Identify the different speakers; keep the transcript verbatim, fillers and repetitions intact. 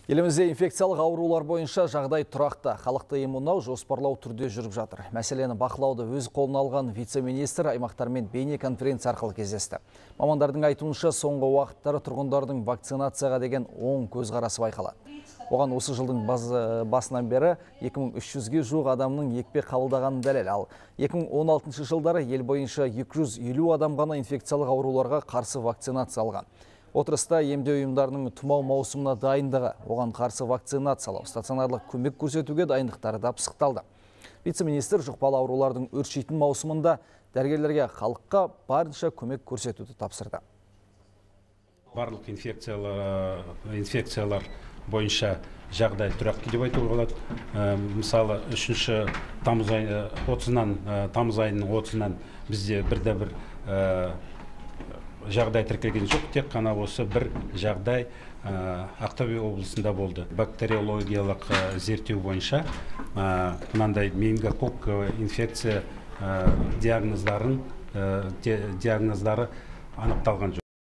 Speaker 1: Елімізде инфекциялық аурулар бойынша жағдай тұрақты. Халықты иммундау жоспарлау түрде жүріп жатыр. Мәселені бақылауды өз қолына алған вице-министр аймақтармен бейне конференция арқылы кездесті. Мамандардың айтуынша соңғы уақыттары тұрғындардың вакцинацияға деген оң көзқарасы байқалады. Оған осы жылдың басынан бері екі мың үш жүзге жуық адамның екпе қабылдағаны дәлел. Ал екі мың он алтыншы жылдары ел бойынша екі жүз елу адам ғана инфекциялық ауруларға қарсы вакцинация алған. Отырыста емдеу ұйымдарының тұмау маусымына дайындығы, оған қарсы вакцинациялау, стационарлық көмек көрсетуге дайындықтары да пысықталды. Вице-министр жұқпалы аурулардың өршитін маусымында дәрігерлерге халыққа барынша көмек көрсетуді тапсырды.
Speaker 2: Барлық инфекциялар, инфекциялар бойынша жағдай тұрақты деп айтуға болады. Мысалы, үшінші тамыз айы отызынан тамыз айының отызынан бізде бірде бір жағдай тіркелген жоқ, тек қана осы бір жағдай Ақтөбе облысында болды. Бактериологиялық зерттеу бойынша мынандай менингококк инфекция диагноздарын диагноздары анықталған жоқ.